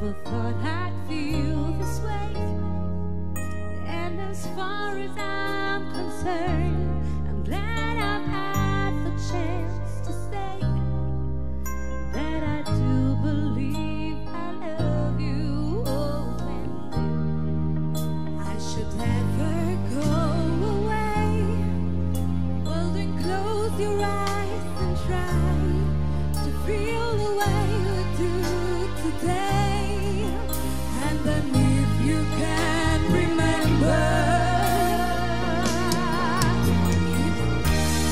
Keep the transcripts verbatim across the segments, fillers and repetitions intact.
Never thought I'd feel this way. And as far as I'm concerned, I'm glad I've had the chance to say that I do believe I love you. Oh, and if I should ever go away, well then close your eyes and try to feel the way you do today. And then if you can remember,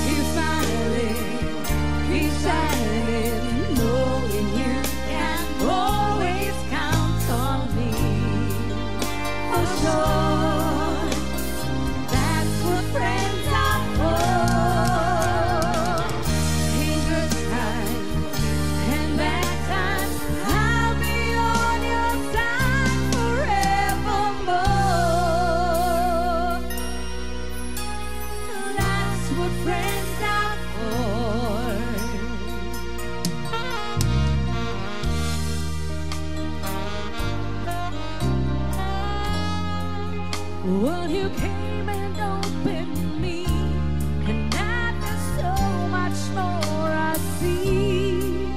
keep smiling, keep shining, knowing you can always count on me for sure. That's what friends are for. In good times and bad times, I'll be on your side forevermore. That's what friends are for. Well, you came and opened me, and now there's so much more I see.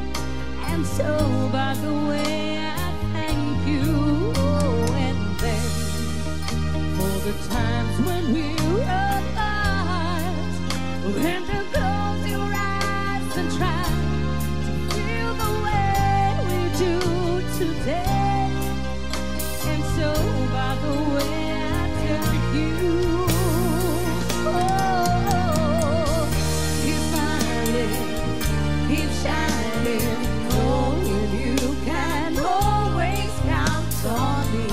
And so, by the way, I thank you. Oh, and then for the times when we were apart, when to close your eyes and try to feel the way we do today. And so, by the way, I tell you, oh, keep smiling, keep shining, knowing you can always count on me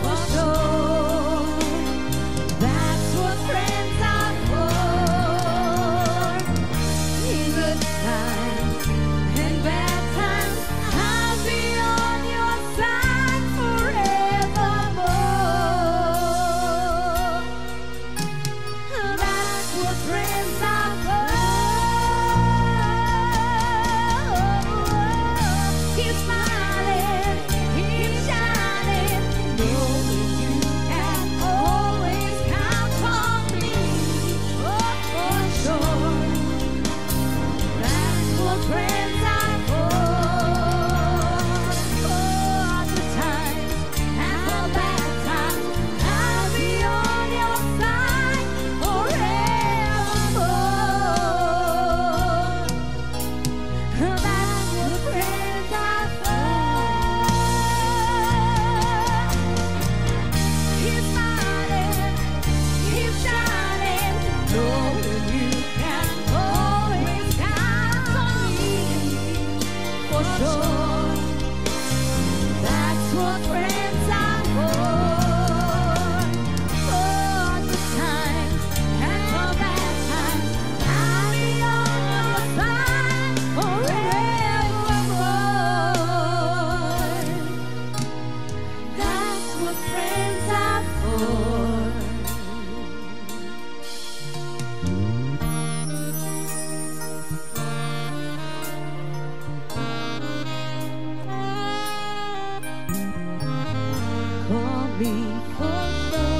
for sure. That's what friends are for. In good times and bad times, I'll be on your side forevermore. That's what friends are for. Keep smiling, keep shining, knowing you can always count on me. Oh, for sure. That's what friends are for. For good times and for bad times, I'll be on your side forevermore. That's what friends are for. Keep smiling, keep shining, knowing you can always count on me for sure. That's what friends are for. For good times and for bad times, I'll be on your side forevermore. That's what friends are for. Call me for sure.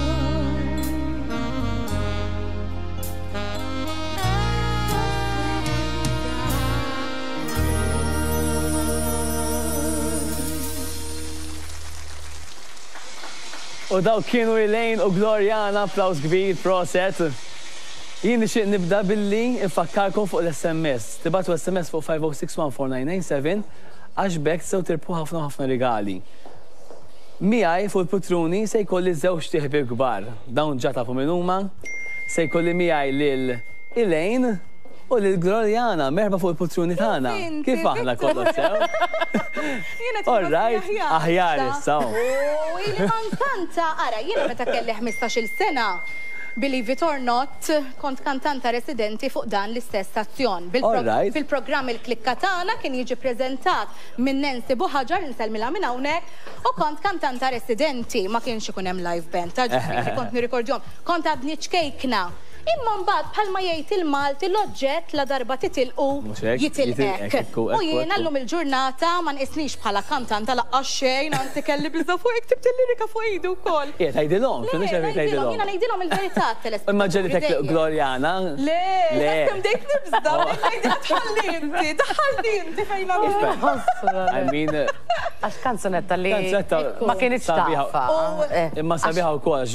U dawk kienu Elaine u Gloriana, applaus kbir, proset. Jien nixtieq nibda billi nfakkarkom fuq l-S M S. Tibagħtu S M S fuq five oh six one four nine nine seven għax b'hekk sew tirbħu ħafna ħafna rigali. Miegħi fuq il-putruni se jkolli żewġt iħbieb kbar. Dawn ġa tafu min huma. Se jkolli miegħi lil Elaine u lil Gloriana, merħba fuq il-putruni tagħna. Inti, Kif aħna, Victor? kollox sew? Jiena All right, aħjar issa. U ili ma nkanta, ara, jiena meta kelli ħmistax-il sena, believe it or not, kont kantanta residenti fuq dan l-istess stazzjon. All right. Fil-programm Il-Klikka Tagħna kien jiġi prezentat minn Nancy Buħaġar, insellmilha minn hawnhekk, u kont kantanta residenti, ma kienx ikun hemm live band, ta' ġifieri kont nirrikordjom. Kont għadni ċkejkna. Imma mbagħad bħalma jgħid il-Malti l-oġġett la darba titilqu jitilqek. U jiena llum il-ġurnata ma nqisnix bħala kantanta laqqas xejn, anzi kelli biża' fuq ktibt il-lirika fuq idu wkoll. Ija tgħidilhom, kienu xejn tgħidilhom. Jiena ngħidilhom il-verità telespettaturi. Imma ġelitek Glorjana. Le, kemm bdejt nibża', ngħidilha tħalli inti, tħalli inti fejn I mean, għax kanzunetta li ma kienx tafha. Imma sabiħa wkoll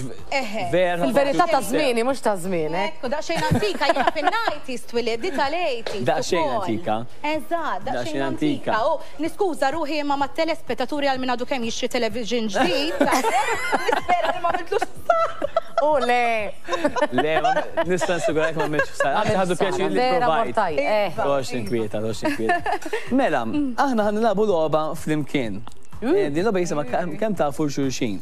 vera. Fil-verità ta' żmieni mhux ta' żmienek. Ekku, daqsxejn antika, jiena fin-nineties twilid, di tal-eighties. Daqsxejn antika. Eżatt, daqsxejn antika. U niskuża ruħi imma mat-telespettaturi għal min għadu kemm jixtri television ġdid. Nispera li ma għamiltlux U le. Le, nista' nsigurek ma għamiltx ħsara. Għandi ħadu pjaċir li provajt. Toqgħodx tinkwieta, toqgħodx tinkwieta. Mela, aħna ħa nilagħbu logħba flimkien. Din logħba jisimha kemm tafu xulxin.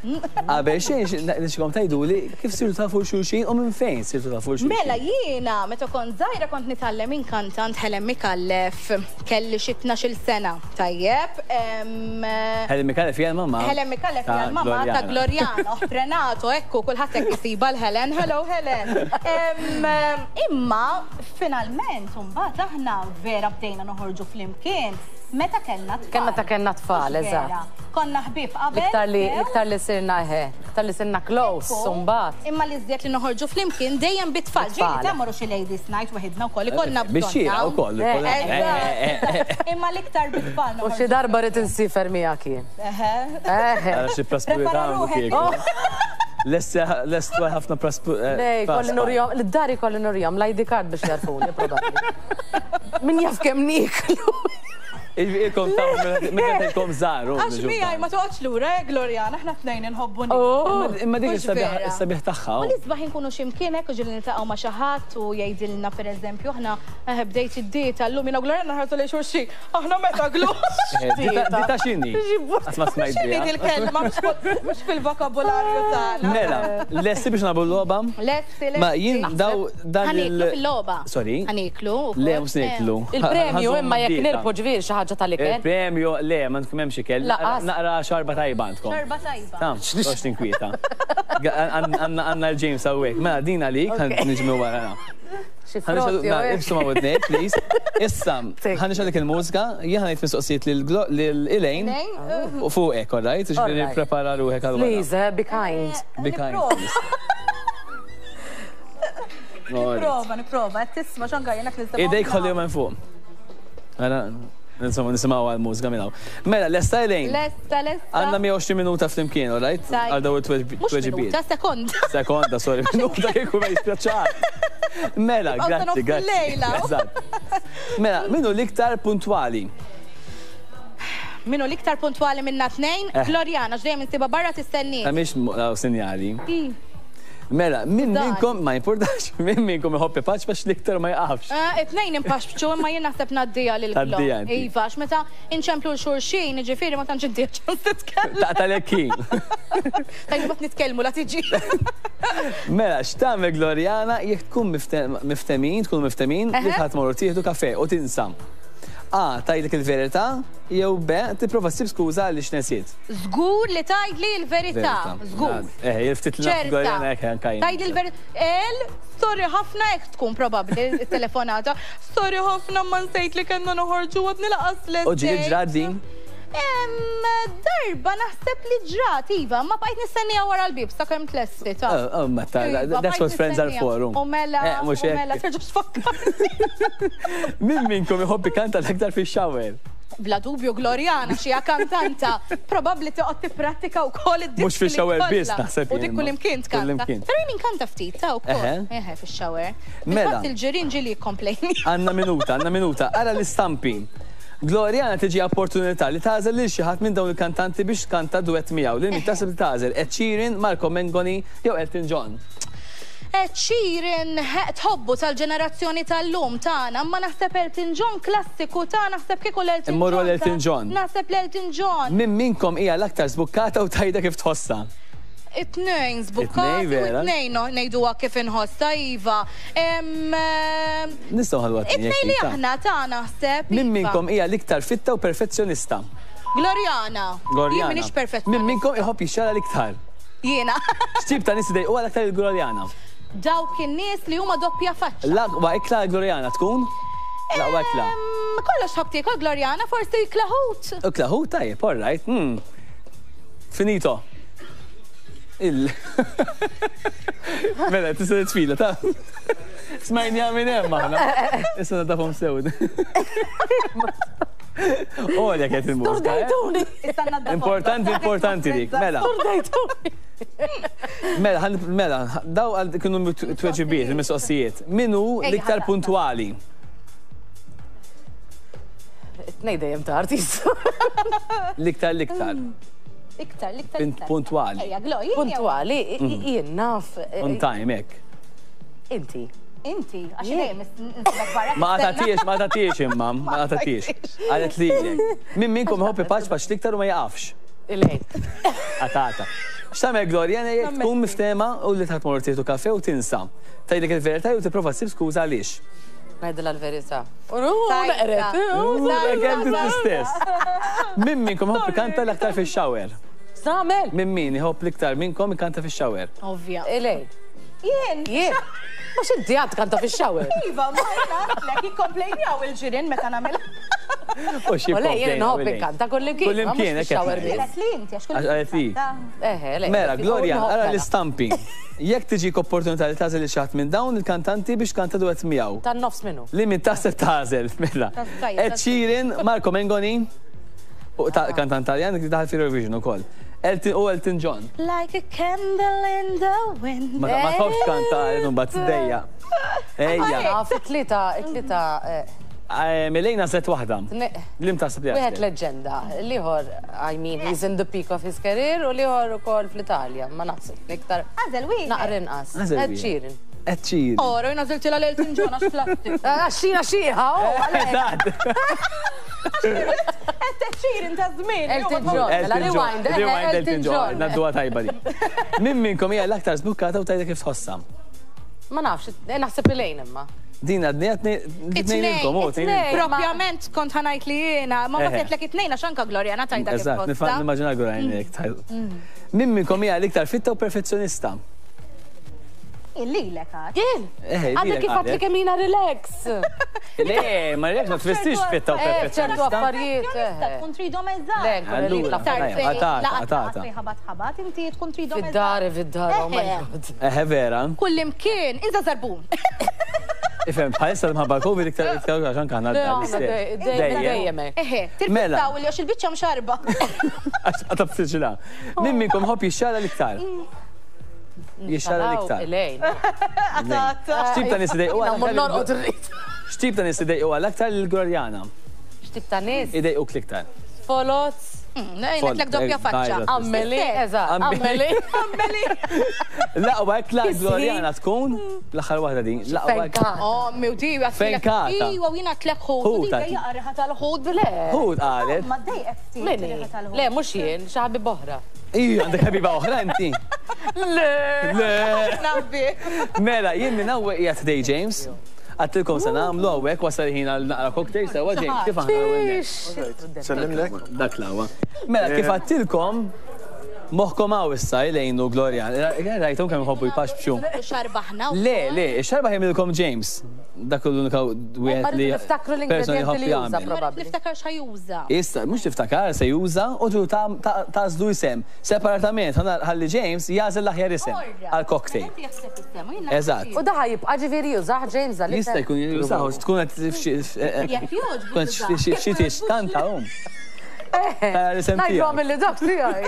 Qabel xejn nixkom tgħiduli kif sirtu tafu xulxin u minn fejn sirtu tafu xulxin. Mela jiena meta kont żgħira kont nitgħallem inkantant Helen Micallef, kelli xi tnax-il sena, tajjeb. Helen Micallef hija l-mamma. Helen Micallef hija l-mamma ta' Glorjana, oħt Renato, ekku kulħadd hekk isiba l-Helen. Hello Helen. Imma finalment imbagħad aħna vera bdejna noħorġu flimkien meta kellna tfal. Kemm meta kellna tfal, eżatt. Konna ħbieb qabel. Iktar li iktar li sirna eħe, iktar li sirna close, mbagħad. Imma li żjed li noħorġu flimkien dejjem bit-tfal. Ġieli ta' morru xi ladies night waħedna wkoll ikollna bżonn. Bix-xira wkoll. Imma l-iktar bit-tfal. U xi darba rid insifer miegħek jien. Eħe. Eħe. Xi praspuri tagħmlu kieku. Lest ħafna praspuri. Le, kolli nurjom, l-dari kolli nurjom, l-I D card biex jarfuni probabbli. Min jaf kemm nieklu. Ilkom ta' minn ilkom żgħar. Għax miegħi ma toqgħodx lura, Glorjana, aħna tnejn inħobbu. Imma dik is-sabiħ tagħha. U l-isbaħ inkunu xi mkien hekk u ġieli niltaqgħu ma' xi ħadd u jgħidilna pereżempju aħna bdejt id-dieta llum jiena u Glorjana nħarsu lejn xulxin. Aħna meta glu. Dita x'inhi? Qatt ma smajt biha. X'inhi dil-kelma mhux fil-vokabularju tagħna. Mela, lesti biex nagħmlu l-logħba? Lesti, lesti. Ma jien daw dan il. Ħaniklu fil-logħba. Sorry. Ħaniklu. Le mhux niklu. Il-premju imma jekk nirpu ġifieri xi ħaġa tal-ikel. Il-premju le ma tkun hemmx ikel. Naqra xarba tajba għandkom. Xarba tajba. Tam, toqgħodx tinkwieta. Għandna l-James hawnhekk. Mela din għalik niġmu wara. Ibsu ma' widnejk, please. Issa, ħa nixgħalek il-mużika, jien ħa ngħid mistoqsijiet lil Elaine u fuqek, all right? Ġifieri prepara ruħek għal wara. Please, be kind. Be kind. Nipprova, nipprova, tisma' x'anka jiena nista' Idejk ħollihom hemm fuq. Insomma, nisimgħu għal-mużika minn hawn. Mela, lesta Elaine? Lesta, lesta. Għandna mija u għoxrin minuta flimkien, all right? Għal daw it-tweġibiet. Mhux minuta, sekonda. Sekonda, sorry, minuta kieku ma jispjaċar. Mela, grazzi, grazzi. Mela, minnu l-iktar puntwali? Minnu l-iktar puntwali minna tnejn? Glorjana, x'dejjem insiba barra tistenni. Ta' mhix sinjali. Mela, min minnkom, ma importax, min minnkom iħobb ipaċ biex l-iktar ma jqafx. It-tnejn impaxxu imma jien naħseb ngħaddija lil Glo. Iva, għax meta inċemplu l-xulxin, jiġifieri ma tantx inti ċans titkellem. Taqta' lekkin. Tajjeb ma nitkellmu la tiġi. Mela, x'tagħmel Glorjana jekk tkun miftemin, tkun miftemin li ħadd morru tieħdu kafe u tinsa. A, tgħidlek il-verità, jew B, tipprova ssib skuża għaliex nesiet. Żgur li tgħidli l-verità, żgur. Eh, ftit li Glorjana hekk anke jien. Tgħidli l-verità. El, sorry ħafna hekk tkun probabbli t-telefonata. Sorry ħafna ma nsejt li kellna noħorġu għad nilaqas l. U ġieli ġrat din? Darba naħseb li ġrat, iva, ma bqajt nistennija wara l-bib, sakemm tlesti ta'. Oh, ma ta' that's what friends are for. U mela, u mela, terġax tfakkar. Min minnkom iħobb ikanta l-aktar fix-shower? Bla dubju Glorjana, xi kantanta, probabbli toqgħod tipprattika wkoll id-diski. Mhux fix-shower biss naħseb. U dik kullimkien tkanta. Però jien inkanta ftit ta' wkoll. Eħe fix-shower. Mela. Il-ġirien ġieli jikkomplejni. Għandna minuta, għandna minuta. Ara l-istampi. Glorjana tiġi opportunità li tagħżel lil xi ħadd minn dawn il-kantanti biex tkanta duett miegħu. Lil min taħseb li tagħżel? Ed Sheeran, Marco Mengoni jew Elton John? Ed Sheeran tħobbu tal-ġenerazzjoni tal-lum tagħna, imma naħseb Elton John klassiku ta' naħseb kieku l-Elton John. Immorru l-Elton John. Naħseb l-Elton John. Min minkom hija l-aktar żbukkata u tajda kif tħossha? It-tnejn żbukkati u it-tnejn ngħiduha kif inħossha iva. Nistgħu ħallu għat-tnejn. It-tnejn li aħna ta' naħseb. Min minkom hija l-iktar fitta u perfezzjonista? Glorjana. Glorjana. Jien m'iniex perfezzjonista. Min minkom iħobb jixxara l-iktar? Jiena. X'tip ta' nies idejquha l-aktar il-Glorjana? Dawk in-nies li huma doppja faċċa. L-aqwa ikla Gloriana tkun? L-aqwa ikla. Kollox tħobb tiekol Gloriana, forsi ikla ħut. Ikla ħut tajjeb, all right. Hmm. Finito. Il. Mela, tista' tfila ta' Smajni minn hemm aħna. Issa nadafhom sew. Olja kienet il-mużika. Sturdejtuni. Importanti, importanti dik. Mela. Sturdejtuni. Mela, mela, daw kienu tweġibiet, il-mistoqsijiet. Min hu l-iktar puntwali? Tnejn dejjem tard issa. L-iktar, l-iktar. Iktar, l-iktar. Puntwali. Puntwali, jien naf. On time, hekk. Inti. Inti, għax dejjem nsibek barra. Ma qatgħatiex, ma qatgħatiex imma, ma qatgħatiex. Qalet lilek. Min minnkom iħobb ipaċpaċ l-iktar u ma jaqafx. Ilejn. Qatgħata. X'tagħmel Gloriana jekk tkun miftehma u li tħadd tmur tieħdu kafe u tinsa. Tgħidlek il-verità jew tipprova ssib skuża għaliex. Ngħidilha l-verità. U naqret. Kemm l-istess. Min minnkom iħobb ikanta l-aktar fix-shower? X'tagħmel? Min min iħobb l-iktar minnkom ikanta fix-shower? Ovvja. Ilejn. Jien. Jien. Mhux inti għad tkanta fix-shower. Iva, ma jien jikkomplejnjaw il-ġirien meta nagħmilha. U xi U le, jien nħobb inkanta kullimkien. Kullimkien, hekk fix-shower qed biss. Qalet li inti, għax Għax qalet li. Eħe, le. Mela, Gloria, Nħobb ara mela. l-istampi. Jekk tiġik opportunità li tagħżel lil xi ħadd minn dawn il-kantanti biex kanta duet miegħu. Tan-nofs minnu. Li min taħseb tagħżel, mela. Tajjeb, Ed Sheeran, Marco Mengoni, u ta' kantant Taljan li daħal fil-Eurovision ukoll. Elton u Elton John. Like a candle in the wind. Ma ma tħobbx kanta mbagħad tdejja. Ejja. Naf, it-tlieta, it-tlieta. Eh, Milejna set waħda. Ne- Lim taħseb li Wieħed għażlet? leġenda, l-ieħor, I mean, he's in the peak of his career, u l-ieħor ukoll fl-Italja, ma naħseb iktar. Għażel wieħed. Naqra inqas. Għażel Ed wieħed. Sheeran. Ed Sheeran. Ora, jien għażiltilha l-Elton John għax plastik. Għax xina xieħa, oh, għalhekk. Eżatt. Ed Sheeran ta' żmien. Elton John. Mela, Elton John. rewind, eh, Rewind Elton Elton John. John. Nadduha tajba di. Min minnkom hija l-aktar żbukkata u tgħidha kif tħossha? Ma nafx, eh, naħseb Elaine imma. Din għadni għatni tnejn ilkom, oh, tnejn ilkom. Propjament kont ħa ngħid li jiena, ma Eħe. għedtlek it-tnejn għax anka Gloriana tgħidha kif Eżatt, tħossha. nimmaġina Gloriana jekk tgħid. Min minnkom hija l-iktar fitta u perfezzjonista? Illilek għad. Jien! Eh, Għadda lilek kif għadli qalet. kemm jiena relax. Le, ma relax ma tfissirx fitta u Eh, ċertu perfezzjonista. affarijiet. Perfezzjonista eh. tkun tridhom eżatt. Le, nkun Allura, irrid l-affarijiet. tajjeb, għatata, għatata. Fejn ħabat ħabat, inti tkun tridhom eżatt. Fid-dar, fid-dar, oh my Eh. God. Eħe vera. Kullimkien, inza zarbun. Ifhem, bħalissa mħabba Covid iktar iktar għax anke aħna Le, d-dar aħna l-istess. dej- dejjem dejjem hekk. Eħe, Mela. tirfittaw li għax il-biċċa mxarba. Għax għatab tiġila. Min minnkom ħobb jixxala l-iktar? Jixxala l-iktar. Elaine. X'tip ta' nies idejqu Jiena mmur norqod għal-aktar? irrid. X'tip ta' nies idejqu għal-aktar lil-Gloriana? X'tip ta' nies? Idejquk l-iktar. Folots. Ngħidlek doppja faċċa. Ammeli, eżatt, Ammeli. ammeli. L-aqwa ikla Kisri. Gloriana tkun l-aħħar waħda din. L-aqwa ikla. Fenkata. Oh, mi u di, Fenkata. Iwa, jina tlek ħut. Ħut, Di dejja riħa tal-ħut. Le. Ħut qalet. Ma dejqek ftit Minni. riħa tal-ħut. Le, mhux jien, xi ħabib oħra. Iju, għandek ħabiba oħra inti. Le. Le. Nabbi. Mela, jien minn hawnhekk qiegħed today James. Għattilkom se nagħmlu hawnhekk wasal ħin għal naqra cocktail sewa James kif aħna hawnhekk. Sellimlek. Dak l-aqwa. Mela, kif għattilkom moħħkom hawn issa Elaine u Gloria. Rajthom kemm iħobbu jpaxbxu. Xarbaħna. Le, le, ix-xarba jagħmilkom James. Dak l-unika wieħed Ma li rridu niftakru persona l-ingredienti li jħobb juża jagħmel. probabbli. Niftakar x'ħajuża. Issa, mhux tiftakar se juża u tu tażlu isem. Separatament, ħalli James jagħżel l-aħjar isem għal cocktail. Eżatt. U daħ jibqa' ġifieri jużah James għal Jista' jkun jużaw, tkun qed f'xi Jekk jogħġbu tkun jużah. xi tix kanta hum. Tara l-isem Ngħidlu tiegħek. għamil dak tiegħi.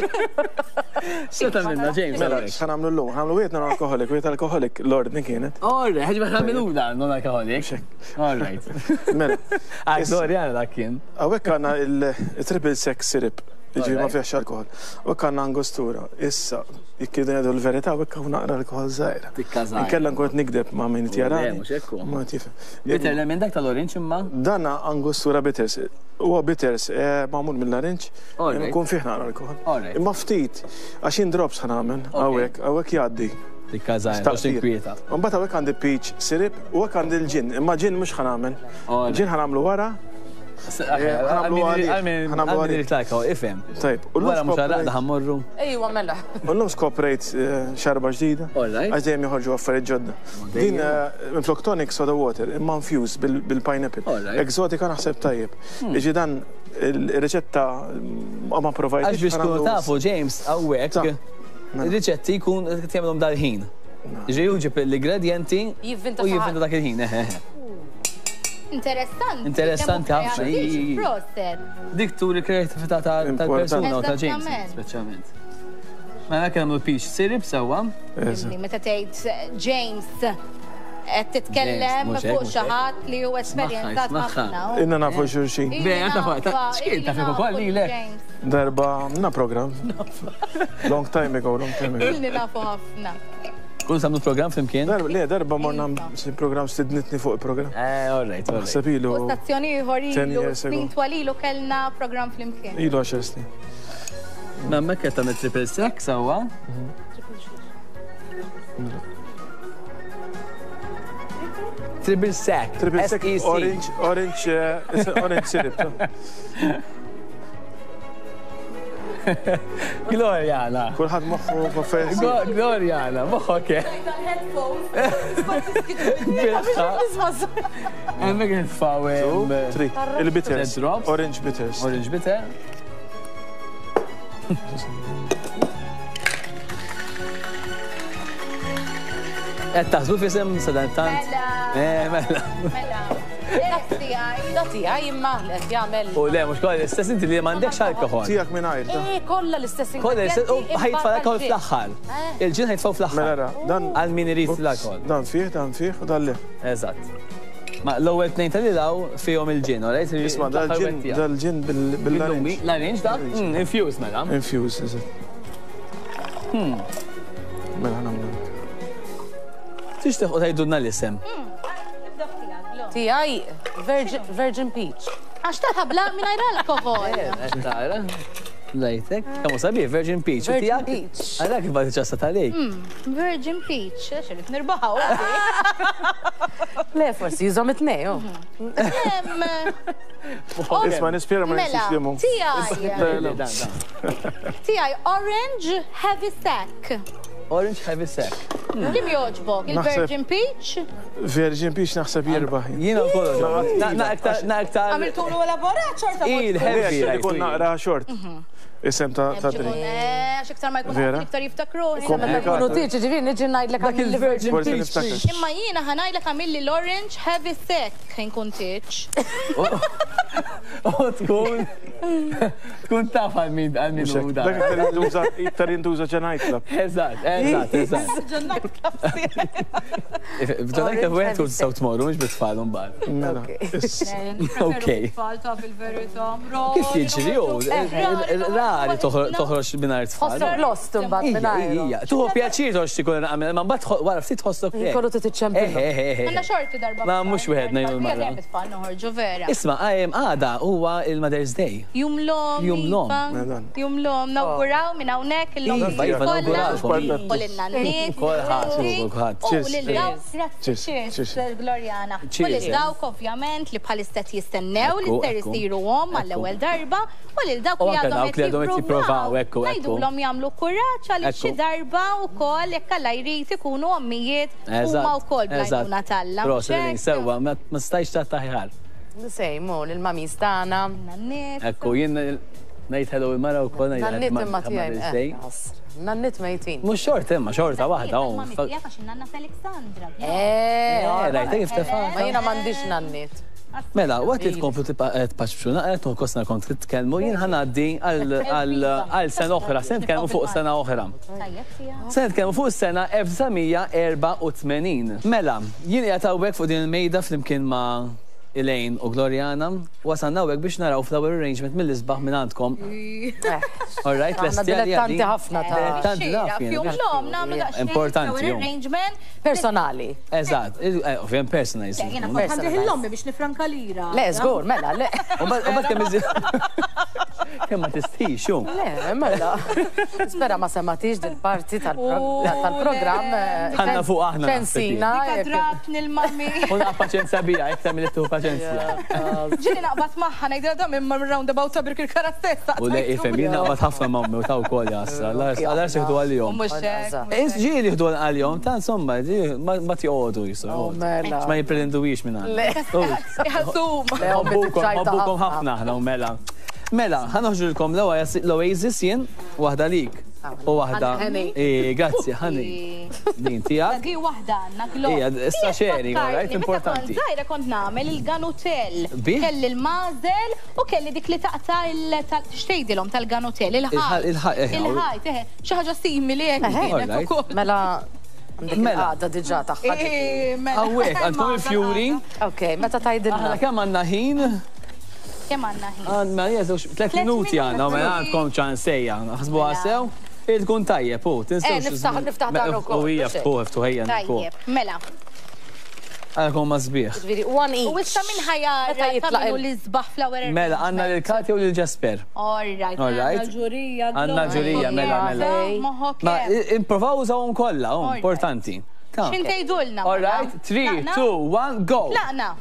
X'se tagħmilna James? Mela, x'ħa nagħmlu llum? Ħa nagħmlu wieħed non-alcoholic, wieħed alcoholic, l-ordni kienet. Orre, ħeġ ma tagħmiluna non-alcoholic. All right. Mela. Ah, Gloriana dak kien. Hawnhekk għandna il-triple sec syrup, jiġifieri ma Alright. fihx alkohol. Hawnhekk għandna angostura. Issa, jekk irridu ngħidu l-verità, hawnhekk hawn naqra alkohol żgħira. Tikka żgħira. Inkella nkun qed nikdeb ma' min qed jarani. Le, mhux hekk hu. Ma tifhem. Bitter lemon dak tal-orange imma. Dana angostura bitters. Huwa bitters eh, magħmul mill-larinġ, Alright. ikun fih naqra alkohol. Alright. Imma ftit, għax jien drops ħa nagħmel hawnhekk, hawnhekk jgħaddi. Tikka żgħira, mhux tinkwieta. Mbagħad hawnhekk għandi peach syrup u hekk għandi l-ġin, imma ġin mhux ħa nagħmel. Alright. Ġin ħa nagħmlu wara. Ħa nagħmlu għalih. Ifhem. Tajb. Wara mhux għal-għaqda ħa mmorru. Ejwa mela. U llum skoprejt xarba ġdida. Għax dejjem joħorġu affarijiet ġodda. Din minflok tonic soda water, imma infused bil-pineapple. Exotika naħseb tajjeb. Iġi dan il-riċetta ma provajt. Għax biex tkunu tafu, James, hawnhekk ir-riċetti jkun qed jagħmilhom dal-ħin. Ġi juġib l-ingredienti u jivvinta dak il-ħin. Interessanti. Interessanti ħafna. Dik turi kreatività tal-persuna u ta' James, speċjalment. Mela kemm nagħmlu peach syrup sewwa. Meta tgħid James qed titkellem fuq xi ħadd li hu esperjenzat ħafna. Inna nafu xulxin. Bejn taf x'kien taf ukoll lilek. Darba na program. Long time ago, long time ago. Ilni nafu ħafna. Kun samnu program flimkien? Le, darba morna program stidnitni fuq il-program. Eh, all right, all right. Naħseb ilu. U stazzjoni ieħor ilu, snin twal ilu kellna program flimkien. Ilu għaxar snin. Ma hemmhekk qed tagħmel triple sec sewwa. Triple sec. Triple sec, orange, orange, orange syrup. Gloriana. Kulħadd moħħu f'affarijiet. Gloriana, moħħok. Hemmhekk nitfgħu il-bitters. Orange bitters. Orange bitter. Qed taħsbu f'isem sadantant? Mela. Mela. Mela. Da tiegħi imma li qed jagħmel. U le mhux kollha l-istess inti li m'għandekx alkohol. Tiegħek mingħajr. Eh, kollha l-istess Kollha l-istess u ħajtfa' l-alkohol fl-aħħar. Il-ġin ħajtfgħu fl-aħħar. Mela dan għal min irid l-alkohol. Dan fih, dan fih u dan le. Eżatt. Ma l-ewwel tnejn tal-ilaw fihom il-ġin, all right? Isma' dal-ġin dal-ġin bil-larinġ. Larinġ da? Infused mela. Infused, eżatt. Mela nagħmlu. Tixtieq u tgħidulna l-isem. Tiegħi Virgin Peach. Għax taħabla mingħajr alkohol. Tara. Lejtek. Kemm sabiħ Virgin Peach. Virgin Peach. Għalhekk kif bagħti ċassa talik. Virgin Peach, għax irid nirbaħaw. Le, forsi jużhom it-tnejn. Isma' nispjera ma nistax limu. Tiegħi. Tiegħi Orange Heavy Sack. Orange Heavy Sack. Lim joġbok, il-Virgin Peach? Virgin Peach naħseb jirbaħ. Jiena wkoll. Na aktar. Għamiltulu elaborat xorta. Il-heavy. Ikun naqra xort. Isem ta' drink. Għax iktar ma jkun iktar jiftakru. Kunu tiġi ġifieri niġi ngħidlek dak il-Virgin Peach. Imma jiena ħa ngħidlek għamilli l-Orange Heavy Sack inkun tiġ. U tkun tkun taf għal min għal min hu dak. Dak iktar jintuża ġa nightclub. Eżatt, eżatt, eżatt. Ġa nightclub. Ġa nightclub wieħed tkun tistgħu tmorru mhux bit-tfal imbagħad. Okej. Tfal taf il-verità. Kif jiġri hu? Rari toħroġ mingħajr tfal. Tħossok lost imbagħad mingħajr. Tuħu pjaċir toħroġ tikun għamel, ma mbagħad wara ftit tħossok. Kollu titċempel. Għandna xorti darba. Ma mhux wieħed ngħidu l-mara. Tfal noħorġu vera. Isma' għada huwa il-Mother's Day. Jum l-om. Jum l-om. Jum l-om. Nawguraw minn hawnhekk il-lom. Kollha. U lin-nanniet. Kulħadd, kulħadd. U lil dawk, grazzi, Gloriana. U lil dawk ovvjament li bħalissa jistennew li ser isiru om għall-ewwel darba u lil dawk li għadhom qed jippruvaw. Ngħidulhom jagħmlu kuraġġ għaliex xi darba wkoll jekk Alla jrid ikunu ommijiet huma wkoll bl-għajnuna t'Alla. Proset, sewwa, ma stajtx taħħar. Sejmu, lil-mamis tagħna. Ekku, jien ngħid hello il-mara wkoll ngħid. Nannit imma tiegħi. Nannit mejtin. Mhux xorta imma xorta waħda hawn. Mami tiegħek għax in-nanna Alexandra. Eh, rajtek kif tefa'. Ma jiena m'għandix nannit. Mela, waqt li tkomplu tpaċċu naqra kosna kont titkellmu, jien ħanaddi għal sena oħra, se nitkellmu fuq sena oħra. Se nitkellmu fuq sena elf disa' mija erba' u tmenin. Mela, jien qiegħed hawnhekk fuq din il-mejda flimkien ma' Elaine u Gloriana, wasalna hawnhekk biex naraw flower arrangement mill-isbaħ minn għandkom. All right, Għandna dilettanti ħafna ta' Dilettanti naf jien. Jum l-om nagħmlu daqsxejn Importanti, flower jum. arrangement. Personali. Eżatt, ovvjament personalized. Jiena kont ħandih l-ommi biex nifranka lira. Le, żgur, mela, le. U mbagħad kemm iżid Kemm ma tistix, xu? Le, mela. Spera ma sematix dil-parti tal-programm. Ħanna fuq aħna. Ċensina. Drat nil-mami. Una paċenzja bija, iktar mill tuħu paċenzja. Ġili naqbad magħha ngħidilha dam imma roundabout ta' Birkirkara stessa. U le ifhem, jien naqbad ħafna mammi u ta' wkoll jasra. Għal jieħdu għalihom. Mhux hekk. Ġieli jieħdu għalihom, ta' insomma, ma tjoqogħdu jisu. Ma jippretenduwix minn għandna. Iħassum. Ħobbukom ħafna aħna u mela. Mela, ħa noħġulkom l-Oasis jien, waħda lik. U waħda. Grazzi, ħani. Din tiegħek. Di waħda għandna Glo. Ija, issa sharing, all right, importanti. Meta kont żgħira kont nagħmel il-ganutell. Kelli l-mażel u kelli dik li taqta' xtejdilhom tal-ganutell, il-ħajt. Il-ħajt, eħe. Xi ħaġa simili hekk kienet ukoll. Mela għandek il-għada diġà tagħha. Hawnhekk għandkom il-fjuri. Ok, meta tgħidilna. Aħna kemm għandna ħin? Kemm għandna ħin? Għandna żewġ tliet minuti għandna, mela għandkom ċansejja. Ħasbuha sew, tkun tajjeb, u tinsewx. Niftaħ niftaħ dan ukoll. U hija ftuħ, ftuħ ejja. Tajjeb, mela. Għalkom ma sbieħ. Ġifieri one each. U issa min ħajara jitlaq l-isbaħ flower. Mela għandna lil Katja u lil Jesper. All right. Għandna ġurija. Għandna ġurija, mela mela. Ma improvaw użawhom kollha, importanti. X'in tgħidulna? All right, three, two, one, go. Tlaqna.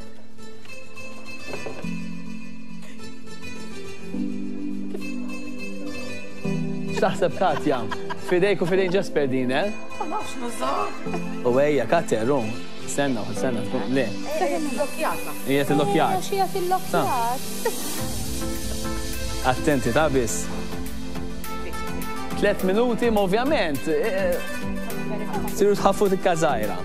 X'taħseb Katja? Fidejk u fidejn Jesper din, eh? Ma nafx nużaw. U ejja, Katja, rum. Stenna, stenna, le. Illokjata. Hija tillokkjat. Xija tillokkjat. Attenti, ta' biss. Tlet minuti, ma ovvjament. Siru tħaffu tikka żgħira.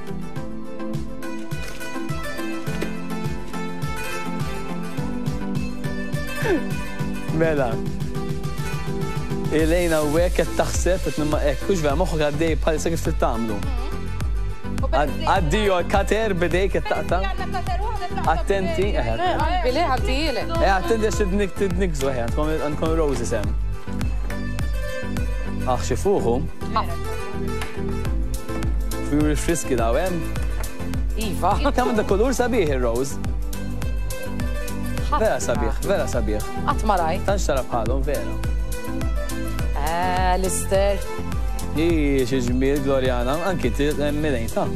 Mela. Elena u hekk qed taħseb qed nimma hekk, hux vera moħħok għaddej bħalissa kif trid. Addio kater bidejk qed taqta'. Attenti, eħe. Bili ħaddijilek. Eh, attenti għax tidnikżu eħe, għandkom roses hemm. Aħ xi fuħu. Fjuri friski daw hemm. Iva. Kemm għandha kulur sabiħ ir-rose. Vera sabiħ, vera sabiħ. Qatt ma rajt. Tantx tara bħalhom vera. Eh, Lister. Ii, xi ġmiel Gloriana, anki milejn ta'.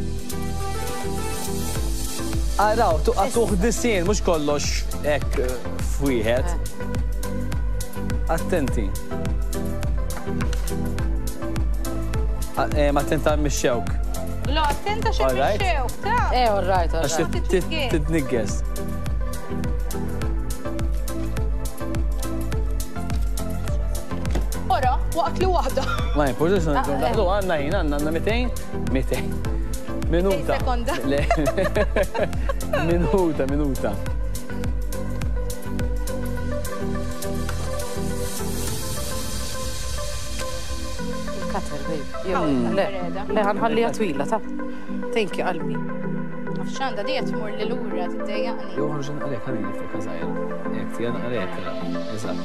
Araw, tuqgħu disien, mhux kollox hekk f'wieħed. Attenti. Attenta mix-xewk. Glo, attenta xi mix-xewk, ta' Eh, all right, all right. Għax titniggeż. Waqt li waħda. Ma jimpurtax daħlu għandna ħin, għandna għandna mitejn, mitejn. Minuta. Sekonda. Minuta, minuta. Il-kater, babe. Le, le, ħanħallija twila, ta' Thank you, qalbi. X'għandha di qed tmur li lura tiddejjaqni. Jew ħorġin għalek, ħalli niftek żgħira. Jekk tiegħek għalek, eżatt.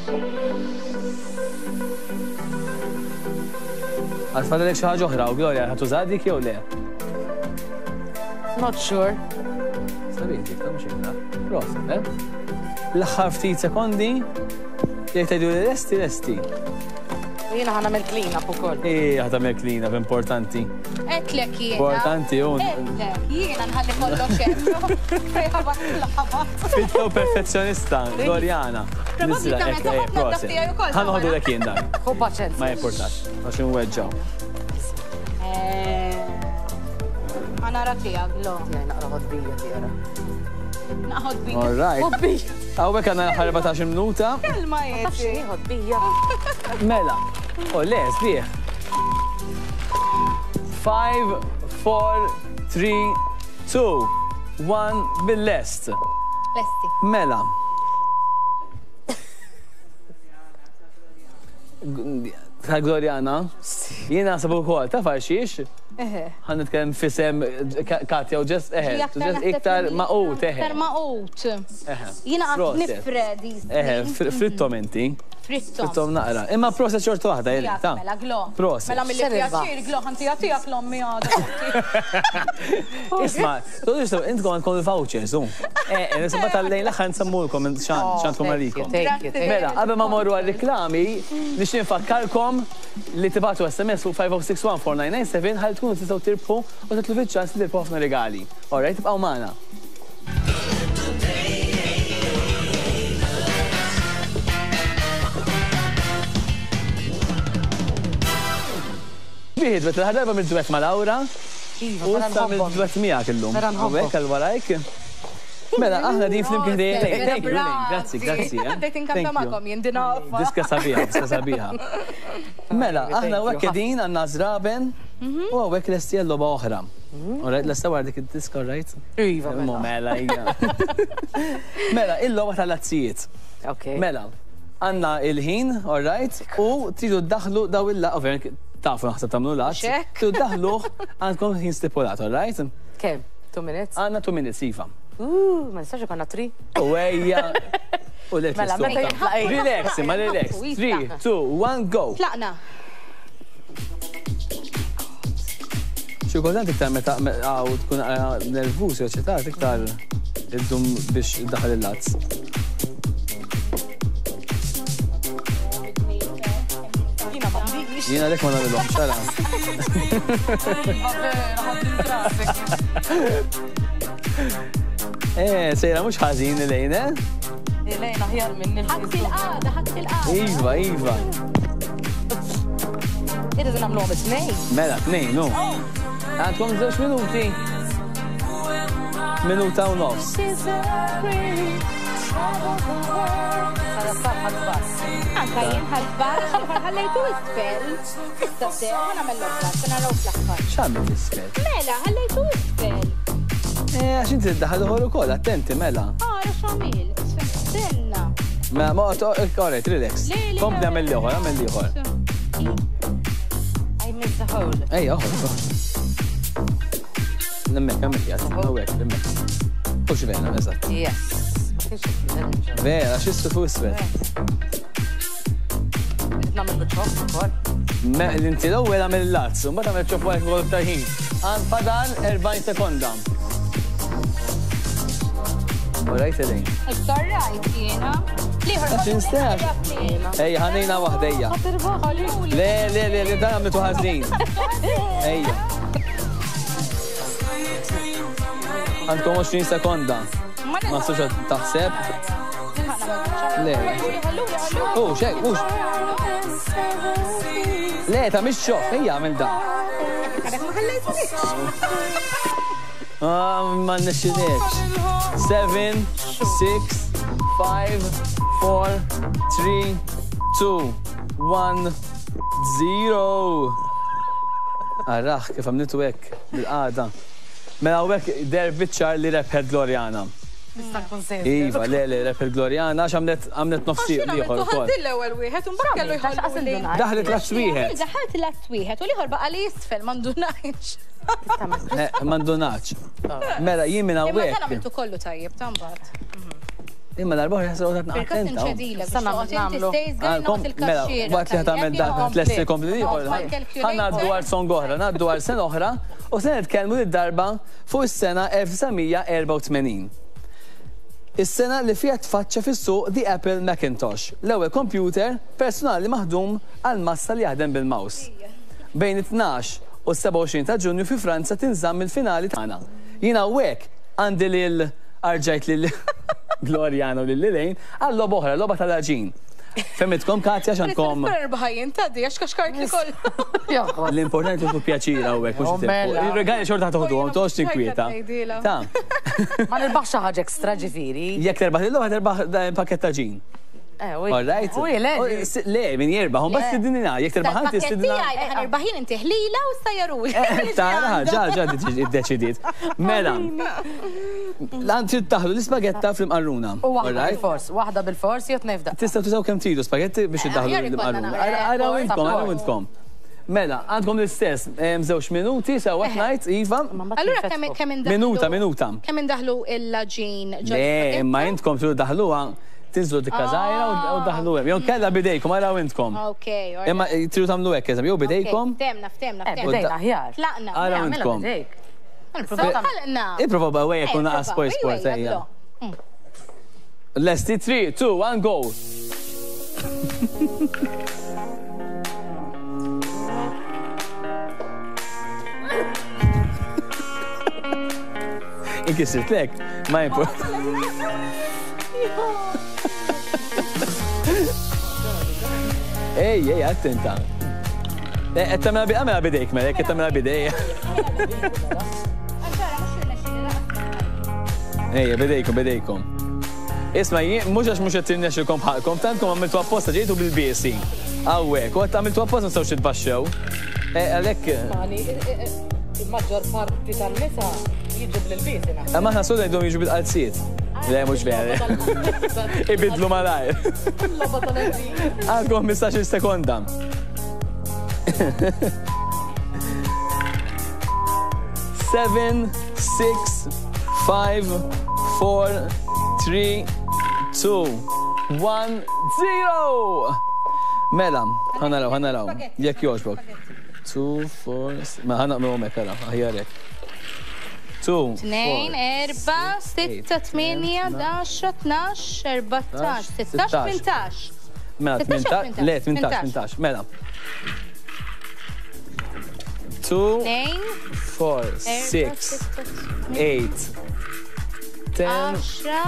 Għatfadalek xi ħaġa oħra u Gloria, ħa tuża dik jew le? Not sure. Sabiħ dik, ta' mhux ikra. Proset, eh? L-aħħar ftit sekondi, jekk tgħidu li lesti, lesti. Jiena ħa nagħmel clean up ukoll. Ej, ħa tagħmel clean up, importanti. Għedtlek jiena. Importanti, un. Għedtlek, jiena nħalli kollox hemm. Fitto perfezzjonista, Gloriana. Probabbli tagħmel ħafna taf tiegħi ukoll. Ħa noħdu lek jien dan. Ħu paċenzja. Ma jimpurtax, għax inweġġaw. Ħa nara tiegħek, Glo. Tiegħi naqra ħodbija tiegħi. Naqħod bija. All right. Ħodbija. Hawnhekk għandna l-aħħar minuta. Kelma Ma tafx jeti. x'inhi ħodbija. Mela. O le, sbieħ. Five, four, three, two, one, bil-lest. Lesti. Mela. Ta' Gloriana, jiena naħseb ukoll, taf għal xiex? Eħe. Ħa nitkellem fisem Katja u ġest, eħe, ġest iktar maqut, eħe. Iktar maqut. Eħe. Jiena qatt Proset. nifredi. Eħe, frittom inti. Frittom. Frittom naqra. Imma proset xorta waħda, Elaine, ta. Mela, Glo. Proset. Mela mill-li pjaċir, Glo, ħanti jagħtijak l-ommi għada. Isma, todu intkom għandkom il-vouchers, u. Eh, nisba tal-lejn l-aħħar nsemmulkom x'għandkom għalikom. Mela, qabel ma morru għal-reklami, nixtieq nfakkarkom li tibgħatu S M S fuq five oh six one four nine nine seven ħalli tkunu tistgħu tirbħu u titlu fiċ-ċans li tirbħu ħafna regali. All right, tibqgħu magħna. Bieħed, bet l-ħar darba mid-duet ma' Laura. U issa mid-duet miegħek illum. U hekk għal warajk. Mela, aħna din flimkien dejjem. Thank you, grazzi, grazzi. Bdejt inkanta magħkom jien din nafha. Diska sabiħa, diska sabiħa. Mela, aħna hawnhekk qegħdin għandna żraben u hawnhekk lesti għal-logħba oħra. Alright, lesta wara dik id-diska, alright? Iva, mela. Mela, hija. Mela, il-logħba tal-lazzijiet. Mela, għandna il-ħin, alright, u tridu ddaħlu daw il-laqgħa, ovvjament tafu naħseb tagħmlu lazz. Tridu ddaħluh għandkom ħin stipulat, alright? Kemm? Two minutes? Għandna two minutes, iva. Uh, ma nistax ikonna three. U ejja. U let Mela, meta jitlaq. Relax, ma relax. Three, two, one, go. Tlaqna. Xi kultant iktar meta għaw tkun nervuż jew eċitat iktar iddum biex iddaħħal il-lazz. Jiena lek ma nagħmilhom, xara. Eh, sejra mhux ħażin Elaine, eh? Elaine aħjar minn Ħadd il-qagħda, ħadd il-qagħda. Iva, iva. Irridu nagħmluhom it-tnejn. Mela, tnejn, no. Għandkom żewġ minuti. Minuta u nofs. Anka jien ħadbar, ħallejtu isfel. Issa se, ħa nagħmel l-oħra, se naraw fl-aħħar. X'għamil isfel? Mela, ħallejtu isfel. Eh, għax inti ddaħħal uħor ukoll, attenti, mela. Ara x'għamil, stenna. Mela, ma alright, relax. Kompli għamel l-ieħor, għamel l-ieħor. I missed the hole. Ejja, oħor, oħor. Nemmek, għamil jgħat, għawek, nemmek. Ux vera, eżatt. Yes. Vera, x'issu fuq isfel. Nagħmel biċ-ċoff ukoll. Inti l-ewwel għamel il-lazz, u mbagħad għamel ċoff wara kif ta' ħin. Għand fadal erbgħin sekonda. All right, Elaine. It's all right, jiena. Għax instax. Ejja, ħanejna waħda, ejja. Le, le, le, le, dan għamlitu ħażin. Ejja. Għandkom għoxrin sekonda. Ma nistax taħseb. Le. U, xek, mux. Le, ta' mhix xof, ejja għamil dan. Ah, ma nixxilekx. Seven, six, five, four, three, two, one, zero. Arraħ, kif għamlitu hekk bil-qagħda. Mela hawnhekk der biċ-ċar li rebħet Gloriana. Nista' nkun sejra. Iva, le, le, rebħet Gloriana għax għamlet għamlet nofsi ieħor ukoll. Għamlet l-ewwel wieħed u mbagħad kellu jħallu. Daħlet l-azz wieħed. Daħlet l-azz wieħed u l-ieħor baqa' li jisfel ma ndunajx. Ma ndunax. Mela jien minn hawnhekk. Imma dan għamiltu kollu tajjeb ta' mbagħad. Imma darba oħra ħasra għodat naqattenta. Mela, waqt li ħatamel dan tlesti kompli ieħor. Ħa ngħaddu għal song oħra, ngħaddu għal sena oħra u se nitkellmu lid-darba fuq is-sena elf disa' mija erba' u tmenin. Is-sena li fiha tfaċċa fis-suq The Apple Macintosh, l-ewwel computer personali maħdum għal massa li jaħdem bil-mouse. Bejn it-tnax u s-seba' u għoxrin ta' Ġunju fi Franza tinżamm il-finali tagħna. Jiena hawnhekk għandi lil arġajt lil Gloriana u lil Elaine għal logħba oħra, logħba tal-għaġin. Femmitkom Katja x'għandkom. Ħajjin tgħaddi għax kaxkart li kollu. L-importanti hu pjaċir hawnhekk mhux it-tempo. Ir-regali xorta toħduhom, toqgħodx tinkwieta. Ta. Ma nirbaħx xi ħaġa ekstra ġifieri. Jekk terbaħ lil terbaħ pakket ta' ġin. All right. Le, min jirbaħ, un bas tidinina, jekk terbaħ inti stidina. Ħa nirbaħ inti ħlila u sajjaruli. Tara, ġa, ġa iddeċidiet. Mela, lan trid taħlu l-ispagetta fl-imqarruna. U waħda bil-fors, waħda bil-fors jew tnejn f'daqqa. Tistgħu tużaw kemm tridu spagetti biex iddaħlu l-imqarruna. Araw intkom, araw intkom. Mela, għandkom l-istess, żewġ minuti, sewa ngħid, iva. Allura kemm indaħlu? Minuta, minuta. Kemm indaħlu il-laġin ġo? Le, imma intkom tridu daħluha Tinżlu dikka żgħira u daħlu hemm. Jew kella bidejkom, araw intkom. Ok, Imma tridu tagħmlu hekk, eżempju, jew bidejkom. Ftemna, ftemna, ftemna. Bidejna aħjar. Tlaqna. Araw intkom. Tlaqna. Ipprova bawejja kun naqas sport sport ejja. Lesti, three, two, one, go. Inkisirt lek, ma import. Ej, ej, attenta. Qed tagħmilha għamilha bidejk mela, qed tagħmilha bidejk. Ejja, bidejkom, bidejkom. Isma', mhux għax mhux qed tirnexxilkom bħalkom, tantkom għamiltu apposta ġejtu bil-biesi. Hawnhekk, u qed għamiltu apposta ma nistgħux titbaxxew. Għalhekk. Il-maġġor parti tan-nisa jiġu bil-biesi naħseb. Imma aħna soltu ngħidulhom jiġu bil-qalziet. Le, mhux vera. Ibidlu malajr. Għandkom ħmistax-il sekonda. Seven, six, five, four, three, two, one, zero! Mela, ħa naraw, ħa naraw. Jekk jogħġbok. Two, four, ma ħa naqmlu hemmhekk ara, aħjar hekk. Two, Tnejn, erba, sitta, tmienja, għaxra, tnax, erbatax, sittax, tmintax. Mela, tmintax, le, tmintax, tmintax, mela. Two, four, six, eight, ten,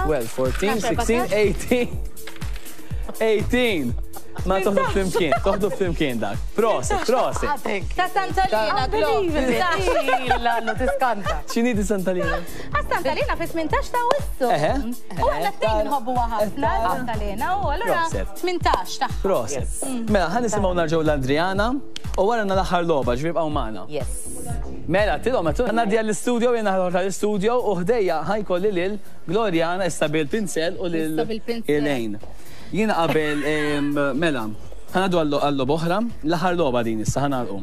twelve, fourteen, sixteen, eighteen, eighteen. Ma toħdu flimkien, toħdu flimkien dak. Prosit, prosit. Ta' Santalina, Glo. Illa, tiskanta. X'inhi di Santalina? Għas Santalina fi tmintax ta' Awwissu. U aħna t-tnejn nħobbuha ħafna Santalina u allura tmintax tagħha. Prosit. Mela, ħa nisimgħu narġgħu l-Adriana u wara l-aħħar logħba, ġifieri bqgħu magħna. Yes. Mela, tilhom, ngħaddi għall-istudio, jiena ħadħol tal-istudio u ħdejja ħajkolli lil Gloriana issa bil-pinsel u lil Elaine. Jiena qabel, mela, ħa ngħaddu għall-logħba oħra, l-aħħar logħba din issa ħa nagħlqu.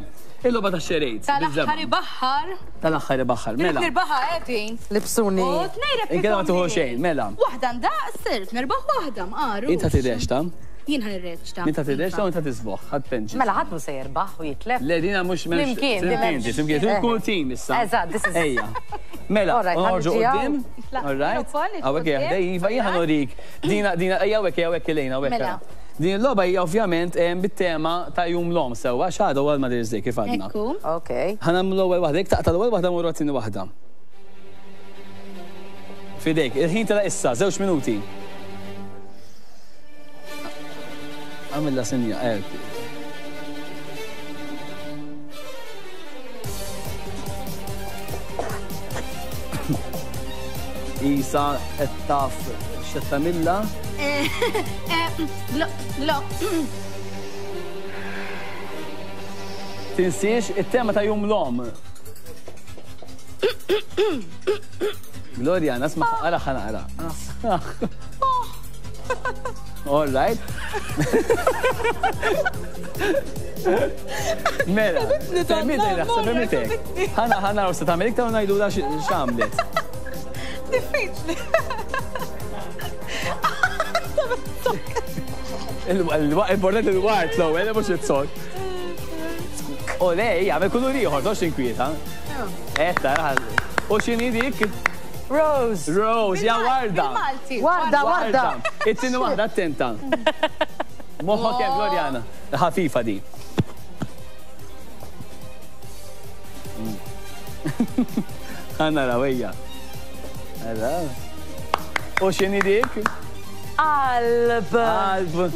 Il-logħba tax-xerejt. Tal-aħħar ibaħħar. Tal-aħħar ibaħħar, mela. Nirbaħha qegħdin. Libsuni. U tnejn rebħithom. Inkella ma tieħu xejn, mela. Waħda ndaqs, sirt nirbaħ waħda mqaru. Inta tirreċta? Jien ħa nirreċta. Inta tirreċta u inta tisboħ, ħadd penġi. Mela ħadd mhu se jirbaħ u jitlef. Le dina mhux Flimkien, flimkien, flimkien, tkun team issa. Eżatt, this is. Ejja. Mela, noħorġu quddiem. All right. Hawnhekk hija ħdej, iva jien ħa norik. Dina dina ejja hawnhekk ejja hawnhekk Elaine hawnhekk. Din il-logħba hija ovvjament bit-tema ta' Jum l-Omm sewwa x'għada huwa l-Mother's Day kif għadna. Okej. Ħa nagħmlu l-ewwel waħda, jekk taqta' l-ewwel waħda mmorru għat-tieni waħda. Fidejk, il-ħin tela' issa, żewġ minuti. Għamilla sinja, eh. Isa qed taf x'qed tagħmilha. Glo. Tinsiex it-tema ta' Jum l-Omm. Gloria, nasma' ara ħa naqra. All right. Mela, fehmitek, naħseb fehmitek. Ħana ħana naraw se tagħmel iktar u ngħidulha x'għamlet. Diffiċli. Importanti l-wart l-ewwel, mhux it-sokk. U le, jagħmel kulur ieħor, tox inkwieta. Eh, tara. U x'inhi dik? Rose. Rose, ja warda. Warda, warda. It-tieni waħda attenta. Moħħok hemm Gloriana. Ħafifa di. Ħa naraw ejja. Ara. U x'inhi dik? Qalb. Qalb.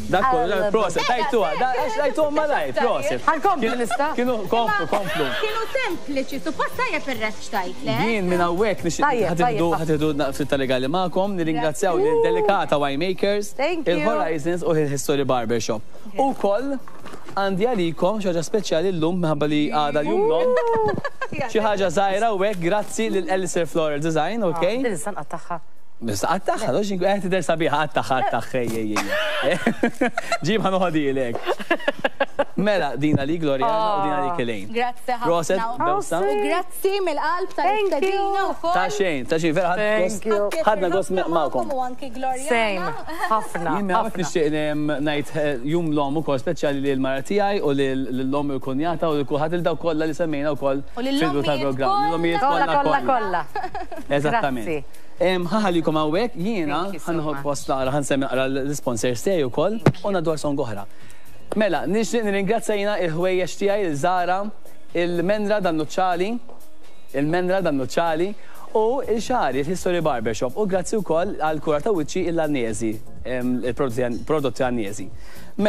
Dak kollu, proset, tajtuha, tajtuha malajr, proset. Ħankomplu nista'? Kienu komplu, komplu. Kienu sempliċi, suppost tajjeb ir-reċtajt, le? Jien minn hawnhekk nixtieq ħa tieħdu ftit ta' regali magħkom, nirringrazzjaw lil Delicata Winemakers, il-Horizons u il-History Barbershop. U koll għandi għalikom xi ħaġa speċjali llum minħabba li għada l-jum l-omm. Xi ħaġa żgħira u hekk grazzi lil Alistair Floral Design, ok? Din is-sanqa tagħha. Bista għattaħħa, dox qed tidher sabiħa, għattaħħa, għattaħħa, ej, ej, ej. Ġib ħa noħodhielek. Mela, dina li Gloriana u dina li Elaine. Grazzi Proset, ħafna. bewsa. U grazzi mill-qalb Thank tal-istedina you. wkoll. Ta' xejn, ta' xejn, vera Thank you. ħadna gost magħkom. U anki Gloriana. Same, ħafna. Jien hawnhekk ħafna. nixtieq em, ngħid eh, jum l-omm ukoll speċjali lil mara tiegħi u lil omm il-kunjata u lil kulħadd il daw kollha li semmejna wkoll U lill-ommijiet fil-bidu tal-programm. Lill-ommijiet Kolla, kolla, kolla. Eżattament. Grazzi. Em, Ħa nħallikom hawnhekk jiena Thank you so ħa nieħu much. post naqra ħa nsemmi naqra l-sponsors tiegħi wkoll u nadwar song oħra. Mela, nixtieq nirringrazzja jiena il-ħwejjeġ tiegħi il-Zara, il-Menra dan-Nuċċali, il-Menra dan-Nuċċali u il-Xari, il-History Barbershop u grazzi wkoll għal kura ta' wiċċi il-Annesi, il-prodotti Annesi.